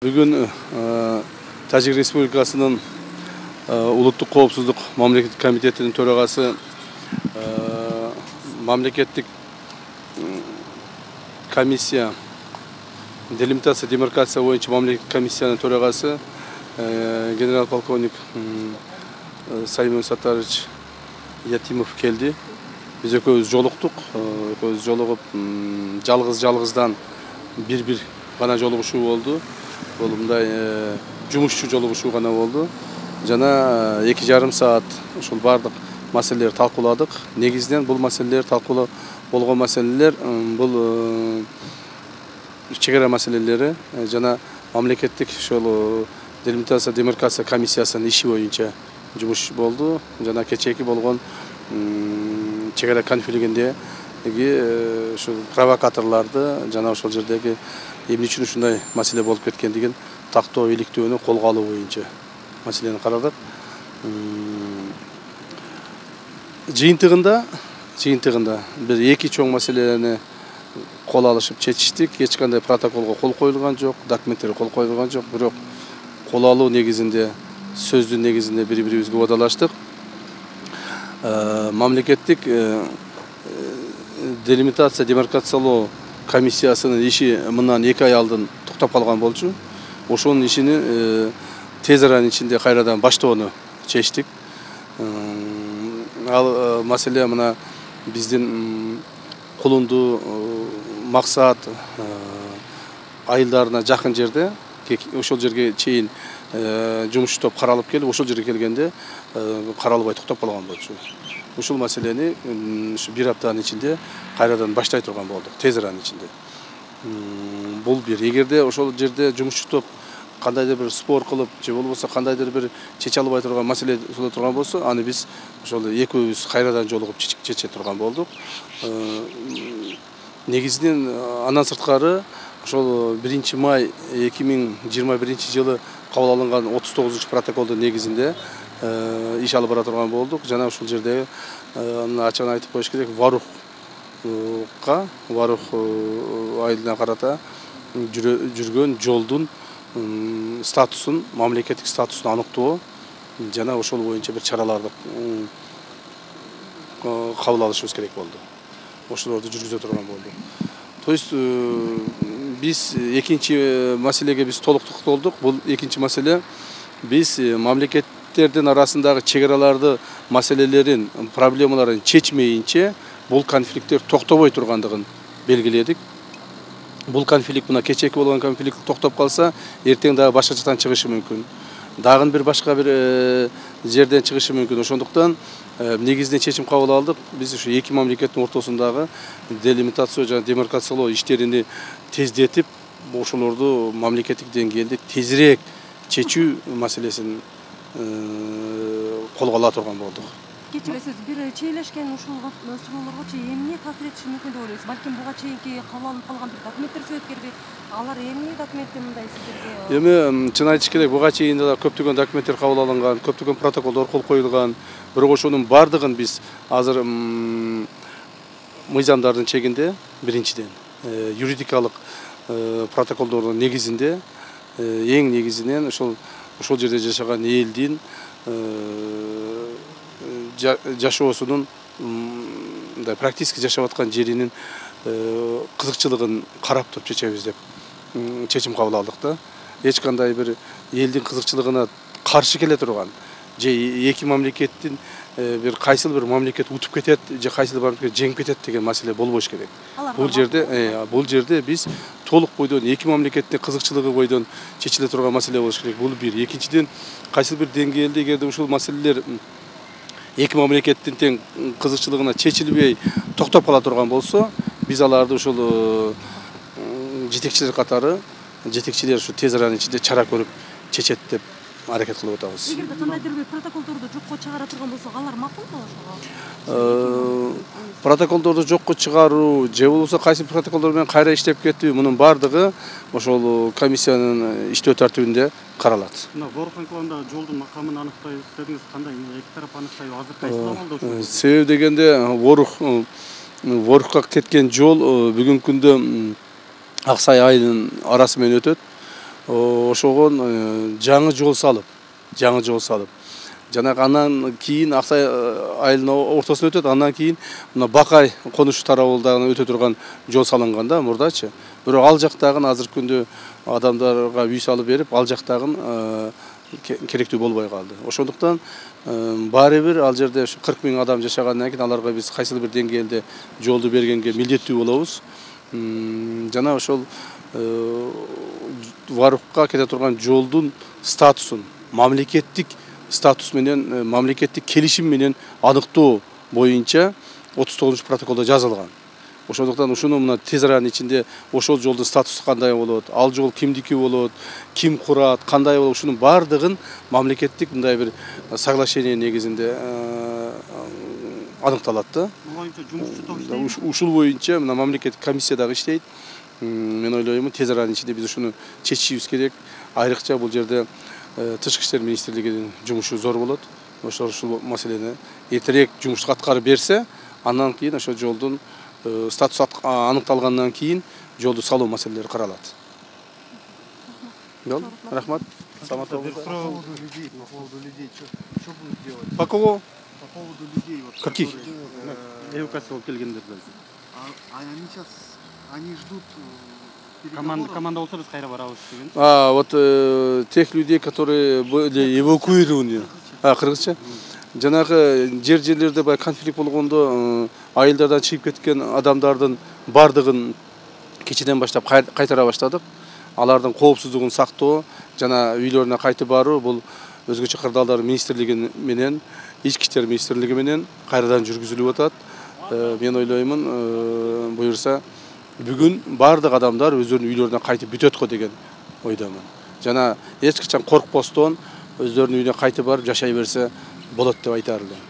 Бүгүн Тажик Республикасынын улуттук коопсуздук мамлекеттик комитетинин төрагасы, мамлекеттик комиссия, делимитация демаркация боюнча мамлекеттик комиссиянын төрагасы генерал полковник Саймон Саттарович Ятимов келди. Биз экөөбүз жолуктук. Экөөбүз жолугуп, жалгыздан бир гана жолугушуу болду. Бул мындай жумушчу жолугушуу гана болду. Жана 2,5 саат ушул бардык маселелерди талкууладык. Негизинен бул маселелер талкуулоо болгон маселелер бул чегара маселелери жана мамлекеттик ошол делимитация демаркация комиссиясынын иши боюнча жумуш болду. Жана кечээки болгон чегара конфликтиндеги ушул провокаторлорду жана ошол жердеги эмне үчүн ушундай маселе болуп кеткендигин тактоо иликтөөнү колго алуу боюнча маселени карадык. Жыйынтыгында бир эки чоң маселени кол алышып чечиштик. Эч кандай протоколго кол коюлган жок, документтерге кол коюлган жок, бирок кол алуу негизинде, сөздүн негизинде бири-бирибизге убадалаштык. Мамлекеттик делимитация демаркациялоо комиссиясынын иши мындан 2 ай алдын токтоп калган болчу. Ошонун ишини тез аранын ичинде кайрадан баштоону чечтик. Ал маселе мына биздин Кулунду максат айылдарына жакын жерде, ошол жерге чейин жумуш топ каралып келип, ошол жерге келгенде каралбай токтоп калган болчу. Ушул маселени ушу 1 аптанын ичинде кайрадан баштай турган болдук, тез аранын ичинде. Бул бир, эгерде ошол жерде жумушчу топ кандайдыр бир спор кылып, же болбосо кандайдыр бир чече албай турган маселе боло турган болсо, аны биз ошол экөөбүз кайрадан жолугуп чече турган болдук. Негизинен андан сырткары ошол 1 май 2021 жылы кабыл алынган 39-протоколдун негизинде иш алып бара турган болдук. Жана ушул жерде ачыгын айтып коюш керек, Варух айылына карата жүргөн жолдун статусун, мамлекеттик статусун аныктоо жана ошол боюнча бир чараларды кабыл алышыбыз керек болду. Ошолорду жүргүзө турган болду. То есть биз экинчи маселеге биз толук токтолдук. Бул экинчи маселе, биз мамлекеттердин арасындагы чегараларды, маселелерин, проблемаларын чечмейинче бул конфликттер токтобой тургандыгын белгиледик. Бул конфликт мына кечээки болгон конфликт токтоп калса, эртең дагы башка жактан чыгышы мүмкүн. Дагы бир башка бир жерден чыгышы мүмкүн. Ошондуктан негизинен чечим кабыл алдык. Биз ушу эки мамлекеттин ортосундагы делимитация жана демаркациялоо иштерини тездетип, ошолорду мамлекеттик деңгээлде тезирээк чечүү маселесин колго ала турган болдук. Кечиресиз, бир чейлешкен ушул суроолорго чейин эмне таасир этиши мүмкүн деп ойлойсуз? Балким буга чейинки кабыл алынып калган бир документтер себепкерби? Алар эмне документте мындай сиздерге? Эми чын айтыш керек, буга чейин да көптөгөн документтер кабыл алынган, көптөгөн протоколдор кол коюлган. Бирок ошонун бардыгын биз азыр мыйзамдардын чегинде, биринчиден юридикалык протоколдордун негизинде, эң негизинен ошол жерде жашаган элдин жашоосунун практически жашап аткан жеринин кызыкчылыгын карап туруп чечебиз деп чечим кабыл алдык да. Эч кандай бир элдин кызыкчылыгына каршы келе турган же эки мамлекеттин бир кайсыл бир мамлекет утуп кетет же кайсыл бир мамлекет жеңип кетет деген маселе болбош керек. Бул жерде биз толук бойдон эки мамлекеттин кызыкчылыгы бойдон чечиле турган маселе болуш керек. Бул бир. Экинчиден, кайсыл бир деңгээлде эгерде ушул маселелер эки мамлекеттин тең кызыкчылыгына чечилбей токтоп кала турган болсо, биз аларды ушул жетекчилер катары, жетекчилер ушу тез аранын ичинде чара көрүп чечет деп аракет кылып атабыз. Эгерде кандайдыр бир протоколдорду жокко чыгара турган болсо, алар макул болушуга? Протоколдорду жокко чыгаруу же болбосо кайсы протоколдор менен кайра иштеп кетүү, мунун бардыгы ошол комиссиянын иштөө тартибинде каралат. Мына Ворух айылында жолдун макамын аныктай десеңиз, кандай эки тарап аныктай азыр кайсы абалда? Себеби дегенде Ворухка кеткен жол бүгүнкү күндө Аксай айылынын арасы менен өтөт. ошогон жаңы жол салып жанагы андан кийин Аксай айылынын ортосуна өтөт. Андан кийин мына Бакай конуш тарабы дагы өтө турган жол салынган да мурдачы. Бирок ал жактагы азыркы күндө адамдарга үй салып берип, ал жактагы керектүү болбой калды. Ошондуктан баары бир ал жерде 40 000 адам жашагандан кийин аларга биз кайсыл бир деңгээлде жолду бергенге милдеттүү болобуз. Жана ошол Варукка кете турган жолдун статусун мамлекеттик статус менен, мамлекеттик келишим менен аныктоо боюнча 39 протоколдо жазылган. Ошондуктан ушуну мына тез аранын ичинде ошол жолдун статусу кандай болот, ал жол кимдики болот, ким курат, кандай болот, ушунун баардыгын мамлекеттик мындай бир соглашение негизинде аныкталат да. Ушул боюнча мына мамлекеттик комиссия дагы иштейт. Мен ойлойм, тез аранын ичинде биз ушуну чечишибиз керек. Айрыкча бул жерде Тышкы иштер министрлигинин жумушу зор болот. Ошол маселени эртерээк жумушту аткарып берсе, андан кийин ошол жолдун статусу аныкталгандан кийин жолду салуу маселелери каралат. Рахмат. По поводу людей, что будут делать? По кого? По поводу людей. Каких? Эвакуация келгендер. Они сейчас, они ждут команда болса биз кайра барабыз деген. Вот тех людей, которые были эвакуированы. Кыргызча. Жанагы жерлерде бай конфликт болгондо айылдардан чыгып кеткен адамдардын бардыгын кечеден баштап кайтара баштадык. Алардын коопсуздугун сактоо жана үйлөрүнө кайтып баруу бул өзгөчө кырдаалдар министрлиги менен, ички иштер министрлиги менен кайрадан жүргүзүлүп атат. Мен ойлоймун, буюрса бүгүн бардык адамдар өздөрүнүн үйлөрүнө кайтып бүтөт го деген ойдомун. Жана эч качан коркпостон өздөрүнүн үйүнө кайтып барып жашай берсе болот деп айтар элем.